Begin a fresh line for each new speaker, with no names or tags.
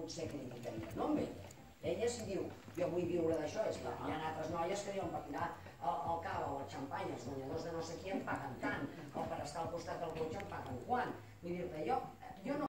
potser criticaria, no amb ella. Ella si diu, jo vull viure d'això, és que hi ha altres noies que diuen per tirar el cava o el xampany, els guanyadors de no sé qui em paguen tant, o per estar al costat del cotxe em paguen quant. Vull dir-te, jo no